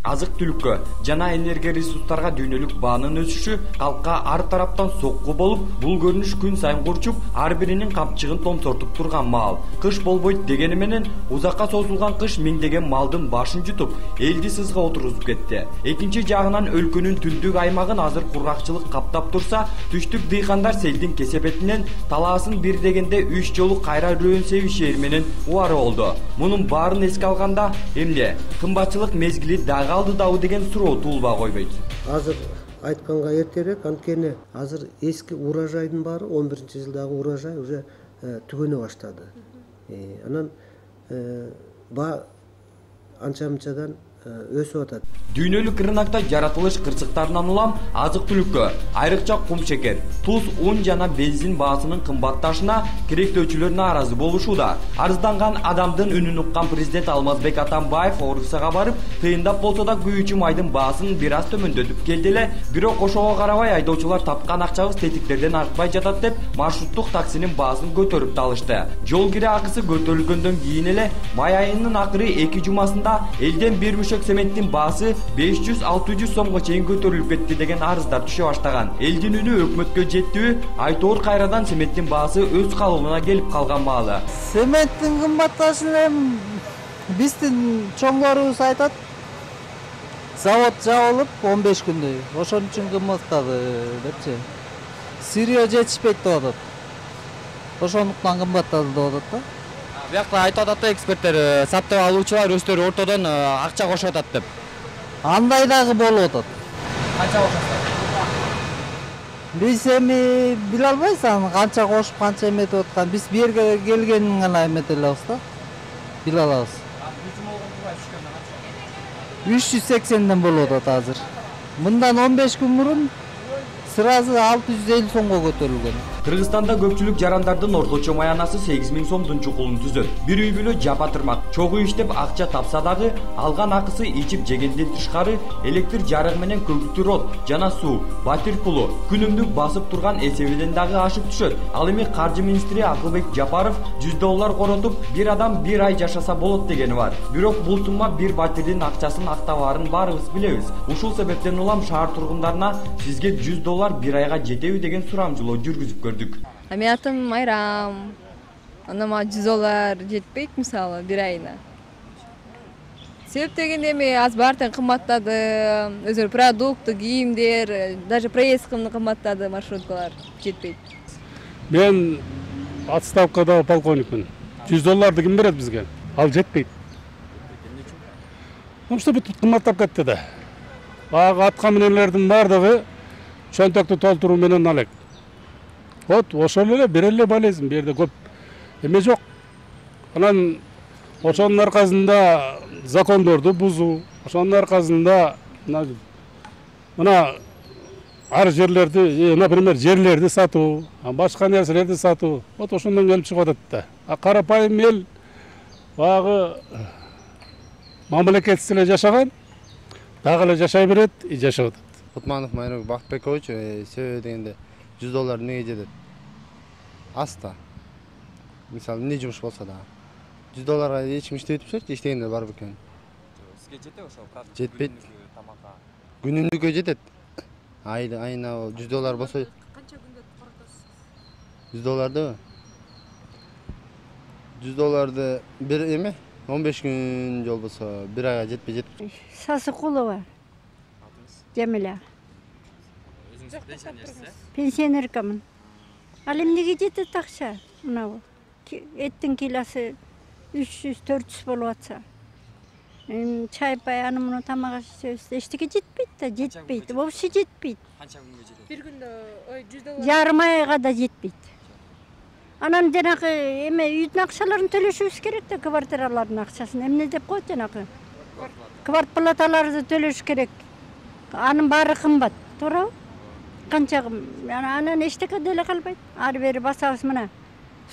Азык-түлүккө жана энергия ресурстарга дүйнөлүк баанын өсүшү калкка ар тараптан сокку болуп, бул көрүнүш күн сайын курчуп, ар биринин камчыгын томсортуп турган маал. Кыш болбойт дегени менен узакка созулган кыш миңдеген малдын башын жутуп, элди сызга отургузуп кетти. Экинчи жагынан өлкөнүн түндүк аймагын азыр кургакчылык каптап турса, түштүк дыйкандар селдин кесепетинен талаасын бир дегенде 3 жолу кайра рөөн себишээр менен убары болду. Мунун баарын эске алганда, эмне кымбатчылык мезгили калды дабы деген суроо туулбай койбойт. Азыр айтканга эртерээк, анткени азыр эски урожайдын баары 11-жылдагы урожай уже түгөнө баштады. Анан анча-мынчадан өсүп атат. Дүйнөлүк рынокто жаратылыш кырсыктарынан улам азык-түлүккө, айрыкча кум шекер, туз, ун жана бензин баасынын кымбатташына керектөөчүлөр нааразы болушууда. Арызданган адамдын үнүн уккан президент Алмазбек Атамбаев Орусияга барып, тыйындап болсо да күйүүчү майдын баасын бир аз төмөндөтүп келди эле, бирок ошого карабай айдоочулар тапкан акчабыз тетиктерден артпай жатат деп маршруттук таксинин баасын көтөрүп талышты. Жол кире акысы көтөрүлгөндөн кийин эле май айынын акыры 2 жумасында элден бир цементтин баасы 500-600 сомго чейин көтөрүлүп кетти деген арыздар түшө баштаган. Элдин үнү өкмөткө жеттиби? Айтоор кайрадан цементтин баасы өз калыбына келип калган маалы. Цементтин кымбатташын биздин чоңдорубуз айтат. Завод жабылып 15 күндөй. Ошон үчүн кымбаттады депчи. Сырье жетишпейт деп атат. Ошондуктан кымбаттады деп атат да. Биякта айтып атат эксперттер, сатып алуучулар өздөрү ортодон акча кошуп атат деп. Андай дагы болуп атат. Канча кошосуңар? Биз эми биле албайбыз аны канча кошуп, канча эметип аткан. Биз бу жерге келгенин гана эметелебиз да. Биле алабыз. 380ден болуп атат азыр. Мындан 15 күн мурун сразу 650 сомго көтөрүлгөн. Кыргызстанда көпчүлүк жарандардын орточо маянасы 8000 сомдун чукулун түзөт. Бир үй бүлө жапа тырмак, чогуу иштеп акча тапса дагы, алган акысы ичип жегенден тышкары электр жарык менен көгүлтүр от жана суу, батир пулу күнүмдүк басып турган эсебинен дагы ашып түшөт. Ал эми каржы министри Акылбек Жапаров $100 коротуп, бир адам бир ай жашаса болот дегени бар. Бирок бул сумма бир батирдин акчасын актабаарын баарыбыз билебиз. Ушул себептен улам шаар тургундарына сизге $100 бир айга жетеби деген сурамжылоо жүргүзүп көрдүк. Менин атым Айрам. Ана мага $100 жетпейт мисалы бир айына. Себеп дегенде эми аз баардыгы кымбаттады. Өзү продукты, кийимдер, даже проездкымды кымбаттады, маршруткалар жетпейт. Мен отставкада полковникмин. $100 ким берет бизге? Ал жетпейт. Что бүтүп кымбаттап кетти да. Ага атка менелердин баардыгы чөнтөктү толтуруу менен алек. Вот ошол эле бир эле болезнь, бу жерде көп эме жок. Анан ошонун аркасында закондорду бузуу, ошонун аркасында мына ар жерлерди, например, жерлерди сатуу, башка нерселерди сатуу, вот ошондон келип чыгып атат да. А карапайым эл багы мамлекетсиз эле жашаган, дагы эле жашай берет, жашап атат. Кутманов Майрок Бактбекович, себеби дегенде $100 эмнеге жетет? Аста. Мисалы, эмне жумуш болсо да. $100 эч ким иштеп атпайбы, иштегендер бар бекен. Сизге жетеби ошол? Жетпейт. Күнүмдүккө жетет. Айына $100 болсо. Канча күндө коротосуз? $100 $100 бир эме 15 күн жол болсо бир айга жетпей жетип. Сасыкулова. Жамиля. Өзүңүз пенсионерсиз? Пенсионеркамын. Ал эмнеге жетет акча? Мына эттин килосы 300-400 болуп атса. Чай пай аны муну тамак ичебиз. Эчтеке жетпейт да, жетпейт. Вообще жетпейт. Канча күнгө жетет? Бир күндө $100. Жарым айга да жетпейт. Анан жанагы эме үйдүн акчаларын төлөшүбүз керек да, квартиралардын акчасын. Эмне деп коет жанагы? Квартплаталарды төлөш керек. Анын баары кымбат, туурабы? Канча анан эчтеке деле калбайт. Ары бери басабыз мына.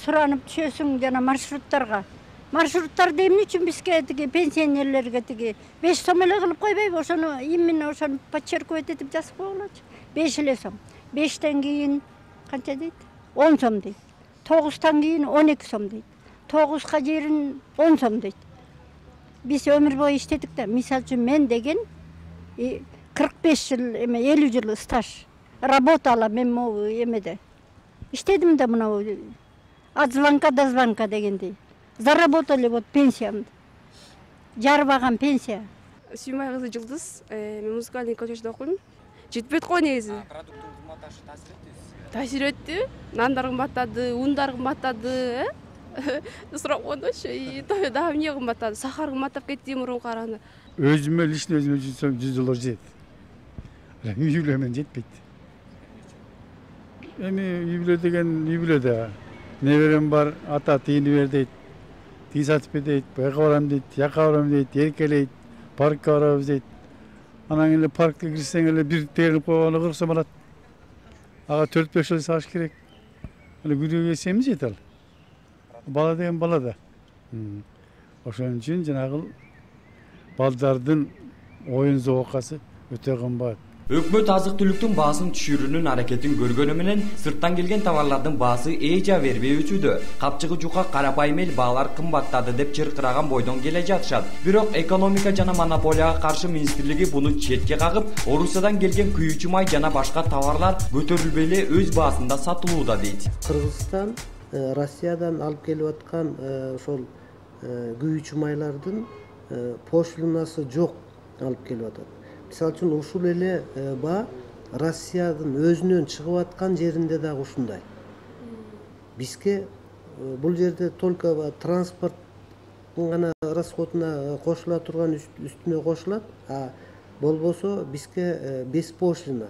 Суранып түшөсүң жана маршруттарга. Маршруттарды эмне үчүн бизге тиги пенсионерлерге тиги 5 сом эле кылып койбойбу? Ошону именно ошону подчеркивать этип жазып койгулачы. 5 эле сом. 5тен кийин канча дейт? 10 сом дейт. 9тан кийин 12 сом дейт. 9га жерин 10 сом дейт. Биз өмүр бою иштедик да. Мисалы үчүн мен деген 45 жыл эме 50 жыл стаж работала мен могу эмеде иштедим да мына от звонка до звонка дегендей заработали вот пенсиямды жарбаган пенсия. Сүймай кызы Жылдыз, мен музыкальный колледжде окуйм. Жетпейт го негизи. Продукттун кымбатташы таасир этти. Нандар кымбаттады, ундар кымбаттады, сурап койдучу. Дагы эмне кымбаттады? Сахар кымбаттап кетти мурунку караганда. Өзүмө лично өзүмө жүрсөм $100 жетет. Үй бүлө менен жетпейт. Эми үй бүлө деген үй бүлө да. Неберем бар, ата тийини бер дейт. Тиги сатып бер дейт, бияка барам дейт, жака барам дейт, эркелейт, паркка барабыз дейт. Анан эле паркка кирсең эле бир тегип койгону 40 сом алат. Ага 4-5 жыл сагыш керек. Эле күнүгө семиз жете ал. Бала деген бала да. Ошон үчүн жанагы балдардын оюн зоокасы өтө кымбат. Өкмөт азык-түлүктүн баасын түшүрүүнүн аракетин көргөнү менен сырттан келген товарлардын баасы эжа бербей өчүүдө. Капчыгы жука карапайым эл баалар кымбаттады деп чыркыраган бойдон келе жатышат. Бирок экономика жана монополияга каршы министрлиги буну четке кагып, Орусиядан келген күйүүчү май жана башка товарлар көтөрүлбөй эле өз баасында сатылууда дейт. Кыргызстан Россиядан алып келип аткан ошол күйүүчү майлардын пошлинасы жок алып келип атат. Мисалы үчүн ушул эле баа Россиядын өзүнөн чыгып аткан жеринде дагы ушундай. Бизге бул жерде только транспорттун гана расходуна кошула турган үстүнө кошулат, а болбосо бизге без пошлина.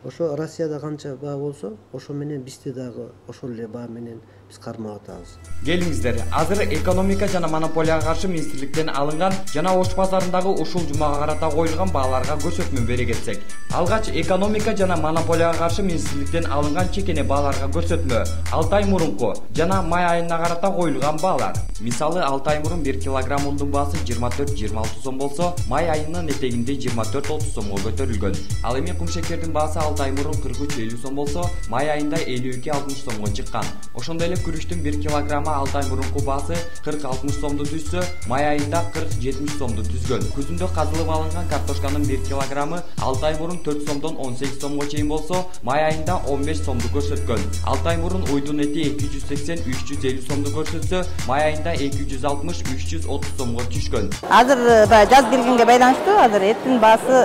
Ошо Россияда канча баа болсо, ошо менен бизде дагы ошол эле баа менен биз кармап атабыз. Келиңиздер, азыр экономика жана монополияга каршы министрликтен алынган жана Ош базарындагы ушул жумага карата коюлган бааларга көрсөтмө бере кетсек. Алгач экономика жана монополияга каршы министрликтен алынган чекене бааларга көрсөтмө 6 ай мурунку жана май айына карата коюлган баалар. Мисалы 6 ай мурун 1 килограмм ундун баасы 24-26 сом болсо, май айынын этегинде 24-30 сомго көтөрүлгөн. Ал эми кумшекердин баасы 6 ай мурун 43-50 сом болсо, май айында 52-60 сомго чыккан. Ошондой эле күрүчтүн 1 килограммы 6 ай мурунку баасы 40-60 сомду түзсө, май айында 40-70 сомду түзгөн. Күзүндө казылып алынган картошканын 1 килограммы 6 ай мурун 4 сомдон 18 сомго чейин болсо, май айында 15 сомду көрсөткөн. 6 ай мурун уйдун эти 280-350 сомду көрсөтсө, май айында 260-330 сомго түшкөн. Азыр жаз келгенге байланыштуу азыр эттин баасы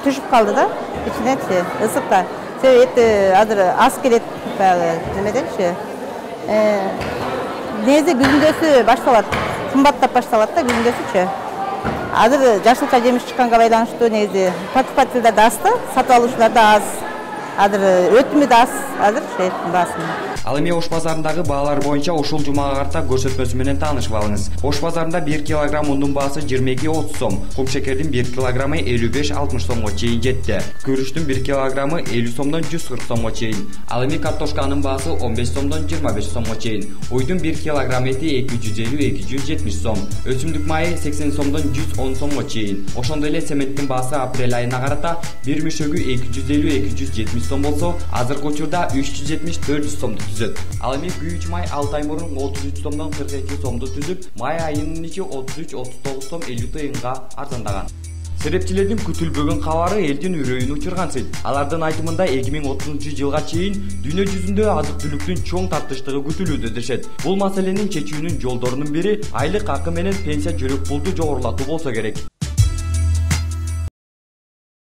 түшүп калды да, ичинечи ысыкта. Себеби эт азыр аз келет баягы немеденчи. Негизи күзүндөсү башталат, кымбаттап башталат да күзүндөсүчү. Азыр жашылча жемиш чыкканга байланыштуу негизи покупательдер да аз да, сатып алуучулар да аз. Азыр өтүмү да аз, азыр эттин баасы. Ал эми Ош базарындагы баалар боюнча ушул жумага карата көрсөтмөсү менен таанышып алыңыз. Ош базарында 1 килограмм ундун баасы 22-30 сом, кумшекердин 1 килограммы 55-60 сомго чейин жетти. Күрүчтүн 1 килограммы 50 сомдон 140 сомго чейин. Ал эми картошканын баасы 15 сомдон 25 сомго чейин. Уйдун 1 килограмм эти 250-270 сом. Өсүмдүк майы 80 сомдон 110 сомго чейин. Ошондой эле сементтин баасы апрель айына карата бир мешөгү 250-270 сом болсо, азыркы учурда 370-400 сомду түзөт. Ал эми күйүүчү май 6 ай мурун 33 сомдон 42 сомду түзүп, май айынын ичи 33-39 сом 50 тыйынга арзандаган. Серепчилердин күтүлбөгөн кабары элдин үрөйүн учурган. Алардын айтымында 2030-жылга чейин дүйнө жүзүндө азык-түлүктүн чоң тартыштыгы күтүлүүдө дешет. Бул маселенин чечүүнүн жолдорунун бири айлык акы менен пенсия жөрөк пулду жогорулатуу болсо керек.